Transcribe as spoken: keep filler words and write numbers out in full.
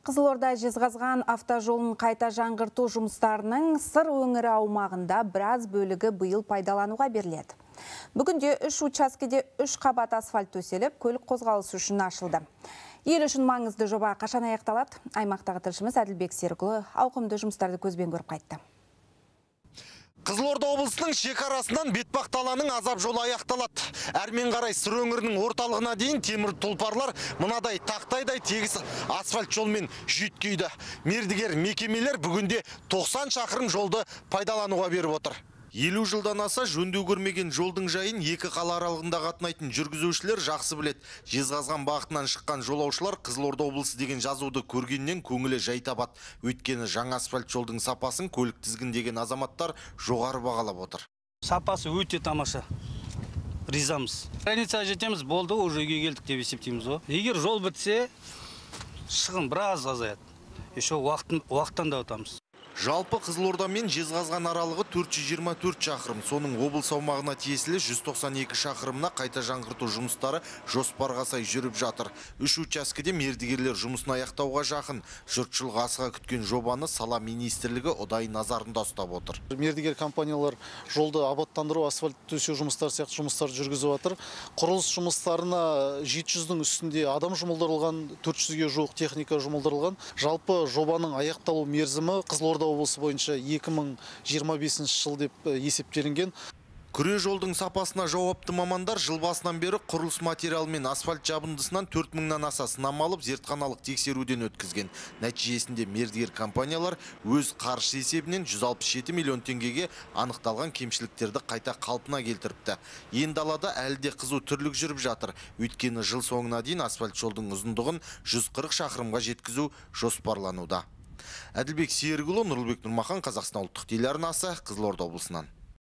Қызылорда Жезқазған автожолын қайта жаңғырту жұмыстарының Сыр өңірі аумағында біраз бөлігі биыл пайдалануға беріледі. Бүгінде үш учаскеде үш қабат асфальт төселіп, көлік қозғалысы үшін ашылды. Ел үшін маңызды жоба қашан аяқталады? Аймақтағы тілшіміз Әділбек Серікұлы ауқымды жұмыстарды көзбен көріп қайтты. Қызылорда облысының шекарасынан Бетпақдаланың азап жолы аяқталады. Әрмен қарай Сыр өңірінің орталығына дейін темір тұлпарлар мынадай тақтайдай тегіс асфальт жолмен жүйткейді. Мердігер мекемелер бүгінде тоқсан шақырым жолды пайдалануға беріп отыр. елу жылдан аса жөндеу көрмеген жолдың жайын екі қала аралығында қатынайтын жүргізушілер жақсы білет. Жезқазған бағытынан шыққан жолаушылар Қызылорда облысы деген жазуды көргеннен көңілі жай табады. Өйткені жаңа асфальт жолдың сапасын көлік тізгіндеген азаматтар жоғары бағалап отыр. Сапасы өте тамаша. Ризамыз. Границаға жетеміз, болды, уже үйге келдік деп есептейміз ғой. Егер жол бітсе, шығын біраз азаяды. Еще уақыттан да өтамыз. Жалпы Қызылорда мен Жезқазған аралығы төрт жүз жиырма төрт шақырым, соның облыс аумағына тиесілі жүз тоқсан екі шақырымына қайта жаңғырту жұмыстары жоспарға сай жүріп жатыр. Үш учаскеде мердігерлер жұмысын аяқтауға жақын. Жұртшылық асыға күткен жобаны сала министрлігі ұдайы назарында ұстап отыр. Мердігер компаниялар жолды абаттандыру, асфальт төсеу жұмыстары сияқты жұмыстар жүргізіп жатыр. Құрылыс жұмыстарына жеті жүздің үстінде адам жұмылдырылған, төрт жүзге жуық техника жұмылдырылған. Жалпы жобаның аяқталу мерзімі Қызылорда облысы бойынша екі мың жиырма бесінші жыл деп есептелінген. Күре жолдың сапасына жауапты мамандар жыл басынан бері құрылыс материалы мен асфальт жабындысынан төрт мыңнан аса сынама алып зертханалық тексеруден өткізген. Нәтижесінде мердігер компаниялар өз қаржысы есебінен жүз алпыс жеті миллион теңгеге анықталған кемшіліктерді қайта қалпына келтіріпті. Енді далада әлі де қызу түрлік жүріп жатыр. Өйткені жыл соңына дейін асфальт жолдың ұзындығын жүз қырық шақырымға жеткізу жоспарлануда. Әділбек Серікұлы, Нұрлыбек Нұрмахан, Қазақстан ұлттық телеарнасы, Қызылорда облысынан.